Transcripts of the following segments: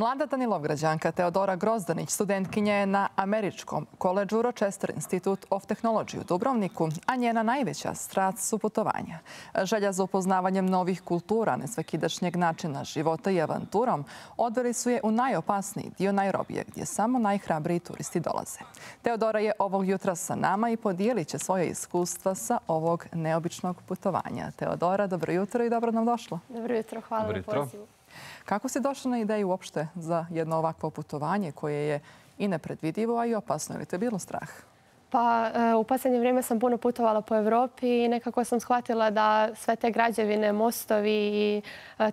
Mlada Danilovgrađanka Teodora Grozdanić studentkinja je na američkom koledžu Rochester Institute of Technology u Dubrovniku, a njena najveća strast su putovanja. Želja za upoznavanjem novih kultura, nesvakidašnjeg načina života i avanturom odveli su je u najopasniji dio Nairobije, gdje samo najhrabriji turisti dolaze. Teodora je ovog jutra sa nama i podijelit će svoje iskustva sa ovog neobičnog putovanja. Teodora, dobro jutro i dobro nam došla. Dobro jutro, hvala na pozivu. Kako si došla na ideju uopšte za jedno ovakvo putovanje koje je i nepredvidivo, a i opasno? Je li te bilo strah? Pa u posljednje vrijeme sam puno putovala po Evropi i nekako sam shvatila da sve te građevine, mostovi i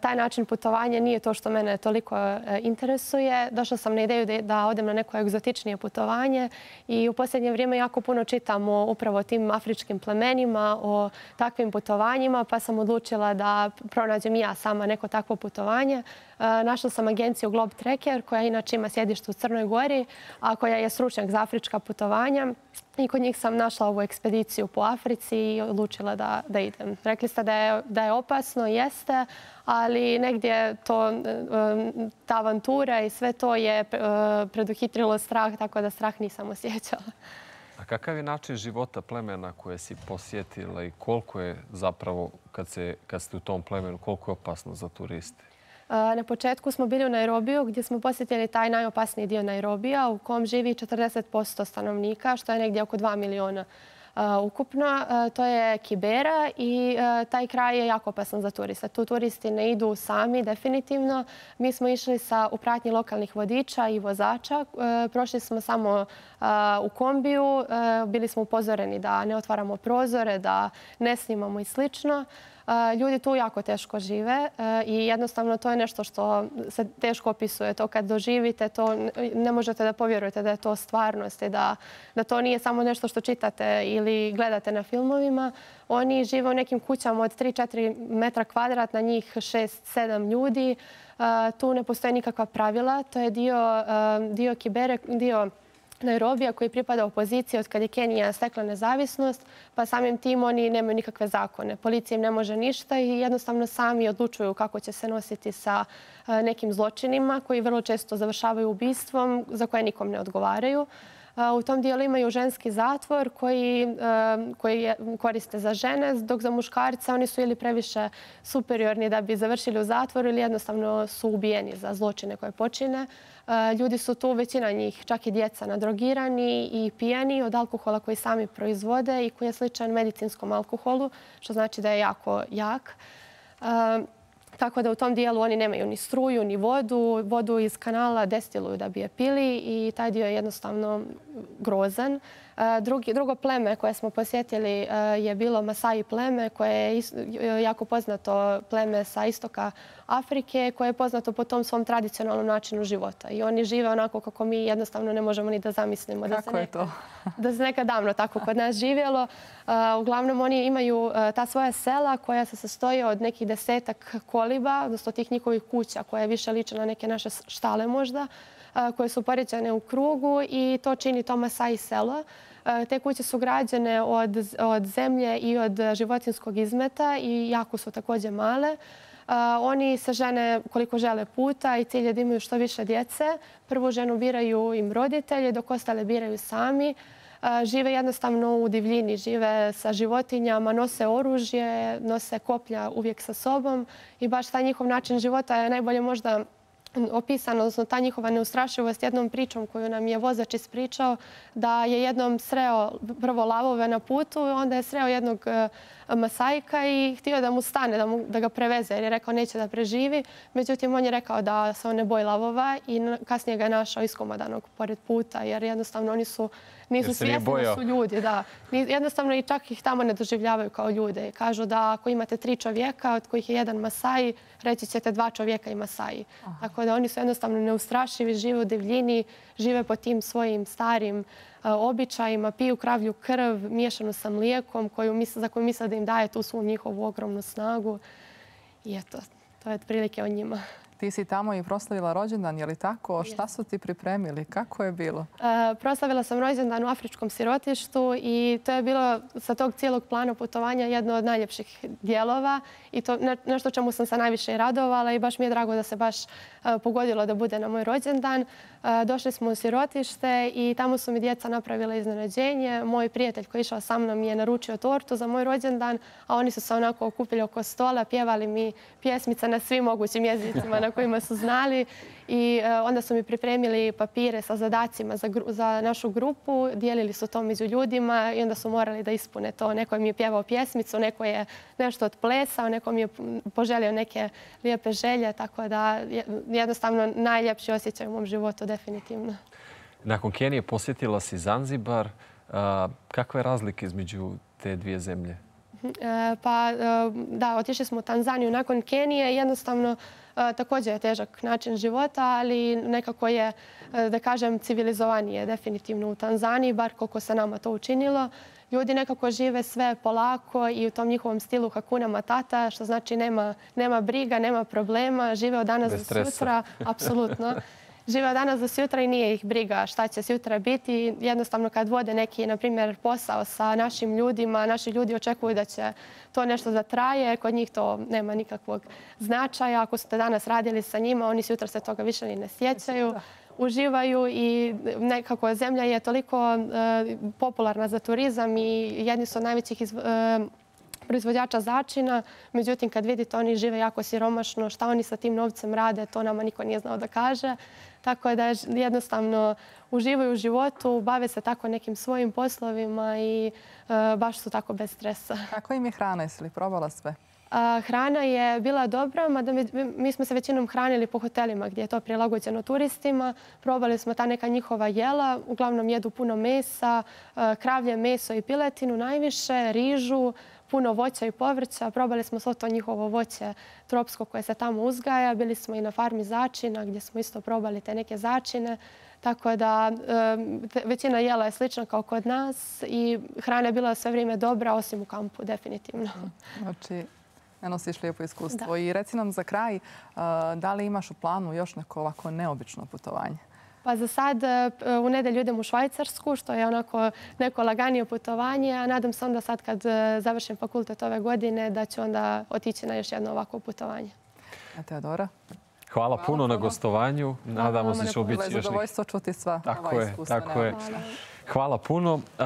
taj način putovanja nije to što mene toliko interesuje. Došla sam na ideju da odem na neko egzotičnije putovanje i u posljednje vrijeme jako puno čitam o upravo tim afričkim plemenima, o takvim putovanjima, pa sam odlučila da pronađem i ja sama neko takvo putovanje. Našla sam agenciju Globe Trekker, koja inače ima sjedište u Crnoj Gori, a koja je stručnjak za afrička putovanja. I kod njih sam našla ovu ekspediciju po Africi i odlučila da idem. Rekli ste da je opasno, jeste, ali negdje ta avantura i sve to je preduhitrilo strah, tako da strah nisam osjećala. A kakav je način života plemena koje si posjetila i koliko je zapravo, kad ste u tom plemenu, koliko je opasno za turiste? Na početku smo bili u Nairobiju gdje smo posjetili taj najopasniji dio Nairobija u kom živi 40% stanovnika, što je negdje oko 2 miliona ukupno. To je Kibera i taj kraj je jako opasan za turiste. Tu turisti ne idu sami, definitivno. Mi smo išli u pratnji lokalnih vodiča i vozača. Prošli smo samo u kombiju. Bili smo upozoreni da ne otvaramo prozore, da ne snimamo i slično. Ljudi tu jako teško žive i jednostavno to je nešto što se teško opisuje. To kad doživite, to ne možete da povjerujete da je to stvarnost i da to nije samo nešto što čitate ili gledate na filmovima. Oni žive u nekim kućama od 3-4 metra kvadratna, njih 6-7 ljudi. Tu ne postoje nikakva pravila. To je dio Kibere, dio Nairobija koji pripada opoziciji od kad je Kenija stekla nezavisnost, pa samim tim oni nemaju nikakve zakone. Policija im ne može ništa i jednostavno sami odlučuju kako će se nositi sa nekim zločinima koji vrlo često završavaju ubistvom za koje nikom ne odgovaraju. U tom dijelu imaju ženski zatvor koji koriste za žene, dok za muškarce oni su ili previše superiorni da bi završili u zatvoru ili jednostavno su ubijeni za zločine koje počine. Ljudi su tu, većina njih, čak i djeca, nadrogirani i pijani od alkohola koji sami proizvode i koji je sličan medicinskom alkoholu, što znači da je jako jak. Tako da u tom dijelu oni nemaju ni struju, ni vodu. Vodu iz kanala destiluju da bi je pili i taj dio je jednostavno grozan. Drugo pleme koje smo posjetili je bilo Masai pleme, koje je jako poznato pleme sa istoka Afrike, koje je poznato po tom svom tradicionalnom načinu života. I oni žive onako kako mi jednostavno ne možemo ni da zamislimo. Kako je to? Da se nekad davno tako kod nas živjelo. Uglavnom oni imaju ta svoja sela koja se sastoji od nekih 10-ak koliba, odnosno tih njihovih kuća koje više liče na neke naše štale možda, koje su poređane u krugu i to čini to Masai selo. Te kuće su građene od zemlje i od životinjskog izmeta i jako su također male. Oni se žene koliko žele puta i cilj je da imaju što više djece. Prvu ženu biraju im roditelji, dok ostale biraju sami. Žive jednostavno u divljini, žive sa životinjama, nose oružje, nose koplja uvijek sa sobom i baš taj njihov način života je najbolje možda opisano, odnosno ta njihova neustrašivost jednom pričom koju nam je vozač ispričao, da je jednom sreo prvo lavove na putu, onda je sreo jednog Masajka i htio da mu stane, da ga preveze jer je rekao neće da preživi. Međutim, on je rekao da se on ne boji lavova i kasnije ga je našao iskomodanog pored puta jer jednostavno oni nisu svjesni da su ljudi. Jednostavno i čak ih tamo ne doživljavaju kao ljude. Kažu da ako imate 3 čovjeka, od kojih je jedan Masaji, reći ćete 2 čovjeka i Masaji. Tako da oni su jednostavno neustrašivi, žive u divljini, žive po tim svojim starim običajima, piju kravlju krv miješanu sa mlijekom za koju misle da im daje tu svu njihovu ogromnu snagu. I eto, to je otprilike o njima. Ti si tamo i proslavila rođendan, je li tako? Šta su ti pripremili? Kako je bilo? Proslavila sam rođendan u afričkom sirotištu i to je bilo sa tog cijelog plana putovanja jedno od najljepših dijelova i to nešto čemu sam se najviše radovala i baš mi je drago da se baš pogodilo da bude na moj rođendan. Došli smo u sirotište i tamo su mi djeca napravila iznenađenje. Moj prijatelj koji je išao sa mnom je naručio tortu za moj rođendan, a oni su se onako okupili oko stola, pjevali mi pjesmice na svim mogućim jezicima na kojima su znali i onda su mi pripremili papire sa zadacima za našu grupu, dijelili su to među ljudima i onda su morali da ispune to. Neko mi je pjevao pjesmicu, neko je nešto otplesao, neko mi je poželio neke lijepe želje, tako da jednostavno najljepši osjećaj u mom životu, definitivno. Nakon Kenije posjetila si Zanzibar. Kakve razlike između te dvije zemlje? Pa da, otišli smo u Tanzaniju nakon Kenije. Jednostavno, također je težak način života, ali nekako je, da kažem, civilizovanije definitivno u Tanzaniji, bar koliko se nama to učinilo. Ljudi nekako žive sve polako i u tom njihovom stilu Hakuna Matata, što znači nema briga, nema problema, žive od danas do sutra. Apsolutno. Žive od danas do sutra i nije ih briga šta će sutra biti. Jednostavno kad vode neki, na primjer, posao sa našim ljudima, naši ljudi očekuju da će to nešto da traje. Kod njih to nema nikakvog značaja. Ako ste danas radili sa njima, oni sutra se toga više ni ne sjećaju. Uživaju i nekako zemlja je toliko popularna za turizam i jedni su od najvećih proizvođača začina. Međutim, kad vidite, oni žive jako siromašno. Šta oni sa tim novcem rade, to nama niko nije znao da kaže. Tako da jednostavno uživaju u životu, bave se tako nekim svojim poslovima i baš su tako bez stresa. Kako im je hrana? Jesi li probala sve? Hrana je bila dobra, mada mi smo se većinom hranili po hotelima gdje je to prilagođeno turistima. Probali smo ta neka njihova jela, uglavnom jedu puno mesa, kravlje meso i piletinu najviše, rižu, puno voća i povrća. Probali smo svo to njihovo voće tropsko koje se tamo uzgaja. Bili smo i na farmi začina gdje smo isto probali te neke začine. Tako da većina jela je slična kao kod nas i hrana je bila sve vrijeme dobra, osim u kampu, definitivno. Znači, ne nosiš lijepo iskustvo. I reci nam za kraj, da li imaš u planu još neko ovako neobično putovanje? Pa za sad u nedjelju idem u Švajcarsku, što je onako neko laganije putovanje, a nadam se onda sad kad završim fakultet ove godine da ću onda otići na još jedno ovako putovanje. A Teodora? Hvala puno na gostovanju. Nadamo se da će biti još zadovoljstvo čuti sva ova iskustva. Tako je. Hvala puno.